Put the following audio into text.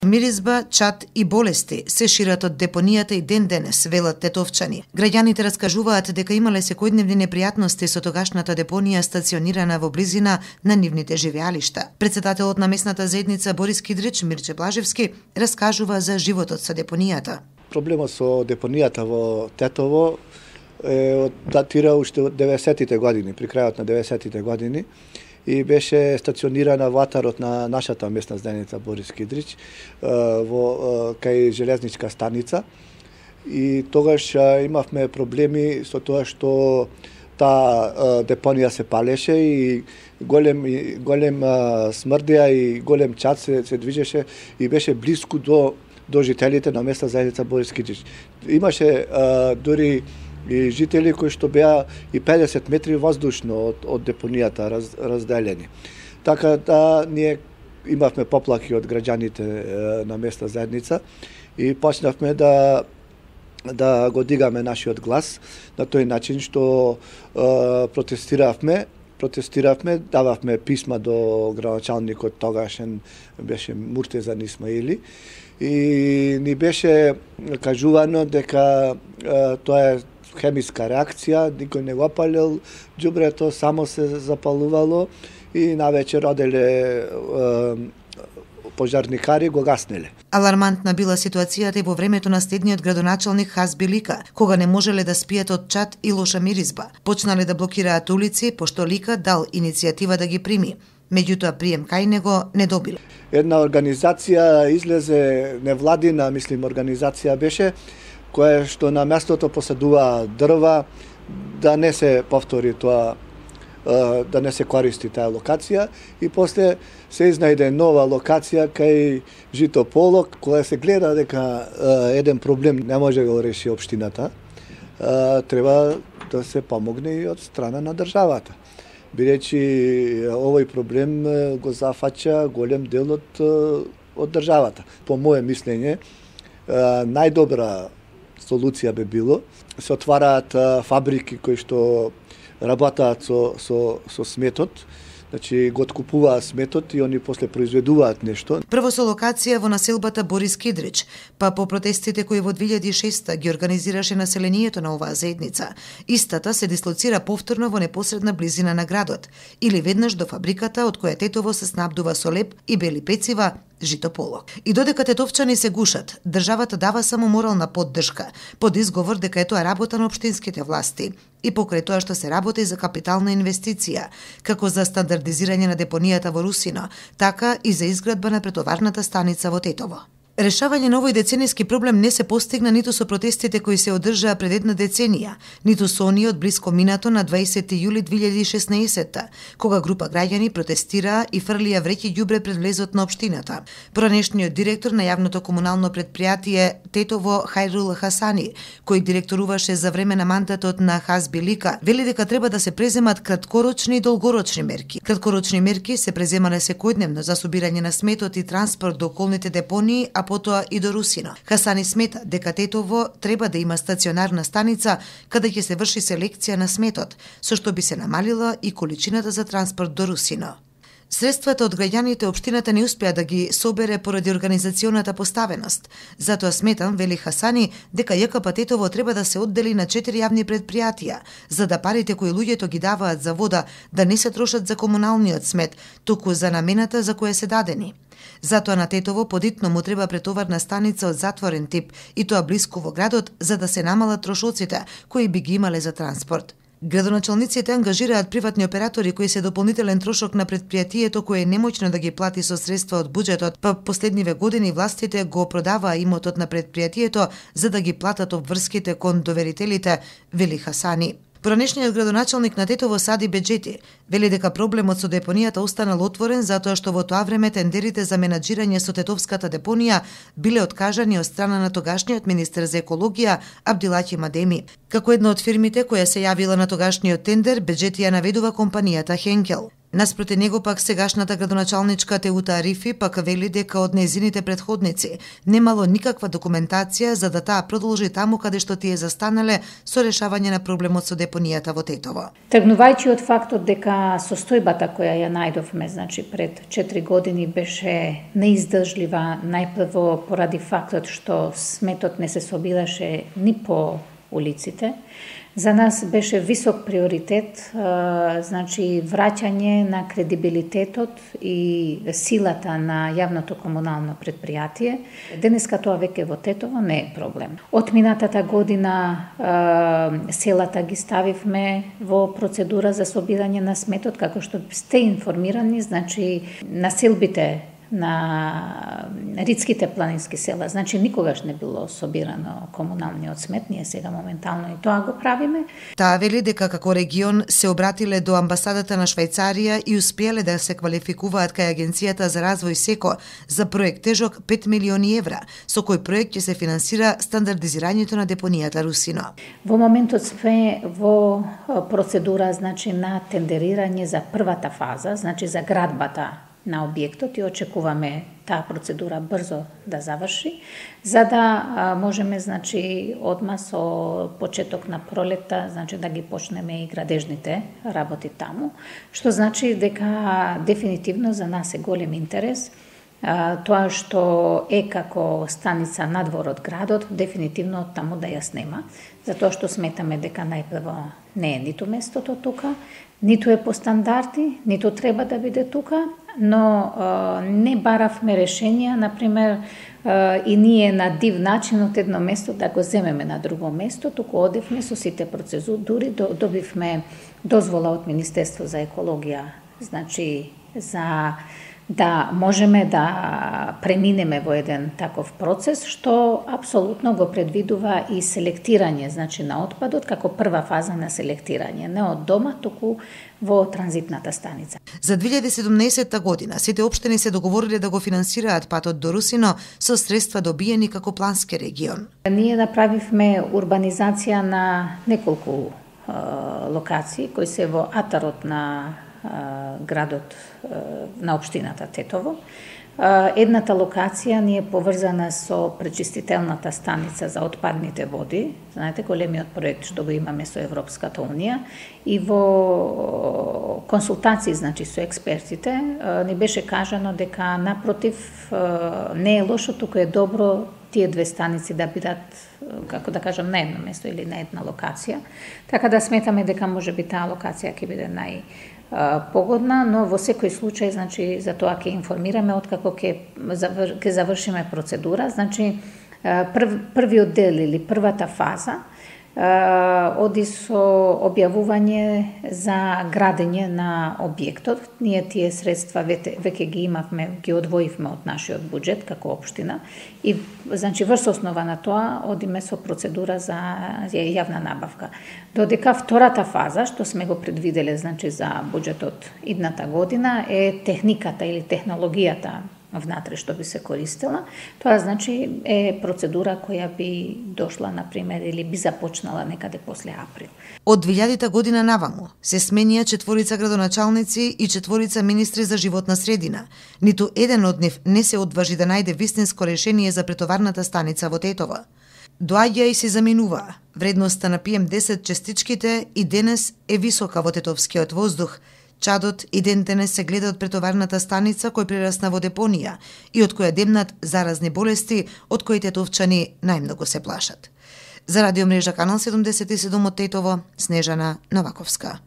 Миризба, чад и болести се шират од депонијата и ден денес, велат тетовчани. Граѓаните раскажуваат дека имале секојдневни непријатности со тогашната депонија стационирана во близина на нивните живеалишта. Претседателот на местната заедница Борис Кидрич, Мирче Блажевски, раскажува за животот со депонијата. Проблемот со депонијата во Тетово датира уште од 90-тите години, при крајот на 90-тите години, и беше стационирана во атарот на нашата местна заедница Борис Кидрич во кај железничка станица. И тогаш имавме проблеми со тоа што таа депонија се палеше и голем смрдеа и голем чад се движеше и беше блиску до жителите на местна заедница Борис Кидрич. Имаше дури и жители кои што беа и 50 метри воздушно од депонијата разделени. Така да ние имавме поплаки од граѓаните на местна заедница и почнавме да го дигаме нашиот глас на тој начин што протестиравме, дававме писма до градоначалникот тогашен беше Муртезан Исмаили и ни беше кажувано дека тоа е хемиска реакција, никој не го палил џубрето, само се запалувало и навечер оделе пожарникари го гаснеле. Алармантна била ситуацијата и во времето на следниот градоначалник Хазби Лика, кога не можеле да спијат од чад и лоша миризба. Почнале да блокираат улици, пошто Лика дал иницијатива да ги прими. Меѓутоа прием кај него не добил. Една организација излезе, невладина, организација беше, која што на местото посадува дрва, да не се повтори тоа, да не се користи таа локација и после се изнајде нова локација кај Житополок, која се гледа дека еден проблем не може да го реши општината, треба да се помогне и од страна на државата. Бидејќи овој проблем го зафаќа голем дел од државата. По моје мислење, најдобра солуција би било се отвараат фабрики кои што работаат со сметот, значи го откупуваат сметот и они после произведуваат нешто. Прво со локација во населбата Борис Кидрич, па по протестите кои во 2006 ги организираше населението на оваа заедница, истата се дислоцира повторно во непосредна близина на градот или веднаш до фабриката од која Тетово се снабдува со леп и бели пецива, Житополок. И додека тетовчани се гушат, државата дава само морална поддршка, под изговор дека е тоа работа на општинските власти и покрај тоа што се работи за капитална инвестиција, како за стандардизирање на депонијата во Русино, така и за изградба на претоварната станица во Тетово. Решавање на овој деценијски проблем не се постигна ниту со протестите кои се одржаа пред една деценија, ниту со оние од блиско минато на 20 јули 2016, кога група граѓани протестираа и фрлија вреќи ѓубре пред влезот на општината. Поранешниот директор на јавното комунално предпријатие Тетово Хајрул Хасани, кој директоруваше за време на мандатот на Хазби Лика, вели дека треба да се преземат краткорочни и долгорочни мерки. Краткорочни мерки се преземале секојдневно за собирање на сметот и транспорт до околните депонии, а потоа и до Русино. Хасани смета дека Тетово треба да има стационарна станица каде ќе се врши селекција на сметот, со што би се намалила и количината за транспорт до Русино. Средствата од граѓаните општината не успеа да ги собере поради организационата поставеност. Затоа сметам, вели Хасани, дека ЈКП Тетово треба да се оддели на 4 јавни предпријатија, за да парите кои луѓето ги даваат за вода да не се трошат за комуналниот смет, туку за намената за која се дадени. Затоа на Тетово подитно му треба претоварна станица од затворен тип и тоа блиску во градот за да се намалат трошоците кои би ги имале за транспорт. Градоначалниците ангажираат приватни оператори кои се дополнителен трошок на предпријатието кое е немоќно да ги плати со средства од буџетот, па последниве години властите го продаваа имотот на предпријатието за да ги платат обврските кон доверителите, вели Хасани. Поранешниот градоначалник на Тетово Сади Беџети вели дека проблемот со депонијата останал отворен затоа што во тоа време тендерите за менаџирање со тетовската депонија биле откажани од страна на тогашниот министер за екологија Абдилаќи Мадеми. Како една од фирмите која се јавила на тогашниот тендер, Беџети ја наведува компанијата Хенкел. Наспроти него пак сегашната градоначалничка Теута Арифи пак вели дека од нејзините претходници немало никаква документација за да таа продолжи таму каде што тие застанале со решавање на проблемот со депонијата во Тетово. Тргнувајќи од фактот дека состојбата која ја најдовме, значи пред 4 години беше неиздржлива, најпрво поради фактот што сметот не се собираше ни по улиците. За нас беше висок приоритет, значи враќање на кредибилитетот и силата на јавното комунално претпријатие. Денеска тоа веќе во Тетово не е проблем. Од минатата година селата ги ставивме во процедура за собирање на сметот, како што сте информирани, значи населбите на ридските планински села. Значи никогаш не било собирано комуналниот смет, ние сега моментално и тоа го правиме. Таа вели дека како регион се обратиле до амбасадата на Швајцарија и успеале да се квалификуваат кај Агенцијата за развој СЕКО за проект тежок 5 милиони евра, со кој проект ќе се финансира стандардизирањето на депонијата Русино. Во моментот сме во процедура, значи на тендерирање за првата фаза, значи за градбата на објектот и очекуваме таа процедура брзо да заврши, за да можеме, значи, одма со почеток на пролета, значи да ги почнеме и градежните работи таму, што значи дека дефинитивно за нас е голем интерес тоа што е како станица надвор од градот, дефинитивно таму да ја снема, затоа што сметаме дека најпрво не е ниту местото тука, ниту е по стандарди, ниту треба да биде тука, но не баравме решенија, например, и ние на див начин од едно место да го земеме на друго место, туку одевме со сите процедури, добивме дозвола од Министерство за екологија, значи за да можеме да преминеме во еден таков процес, што апсолутно го предвидува и селектирање, значи на отпадот, како прва фаза на селектирање, не од дома, туку во транзитната станица. За 2017 година сите општини се договориле да го финансираат патот до Русино со средства добиени како плански регион. Ние направивме урбанизација на неколку локации кои се во атарот на градот на општината Тетово. Едната локација ни е поврзана со пречистителната станица за отпадните води, знаете, големиот проект што го имаме со Европската унија, и во консултации, значи, со експертите, ни беше кажано дека напротив не е лошо, туку е добро тие две станици да бидат, како да кажам, на едно место или на една локација. Така да сметаме дека можеби таа локација ќе биде погодна, но во секој случај, значи, за тоа ќе информираме откако ќе завршиме процедура. Значи, првиот дел или првата фаза оди со објавување за градење на објектот. Ние тие средства веќе ги имавме, ги одвоивме од нашиот буџет како општина и, значи, врз основа на тоа одиме со процедура за јавна набавка. Додека втората фаза, што сме го предвиделе, значи, за буџетот идната година, е техниката или технологијата внатре што би се користела. Тоа, значи, е процедура која би дошла, например, или би започнала некаде после април. Од 2000 година наваму се сменија 4 градоначалници и 4 министри за животна средина. Ниту еден од нив не се одважи да најде вистинско решение за претоварната станица во Тетово. Доаѓа и се заменува. Вредноста на PM10 частичките и денес е висока во тетовскиот воздух. Чадот и ден денес се гледа од претоварната станица кој прерасна во депонија и од која демнат заразни болести од кои тетовчани најмногу се плашат. За радиомрежа Канал 77 од Тетово, Снежана Новаковска.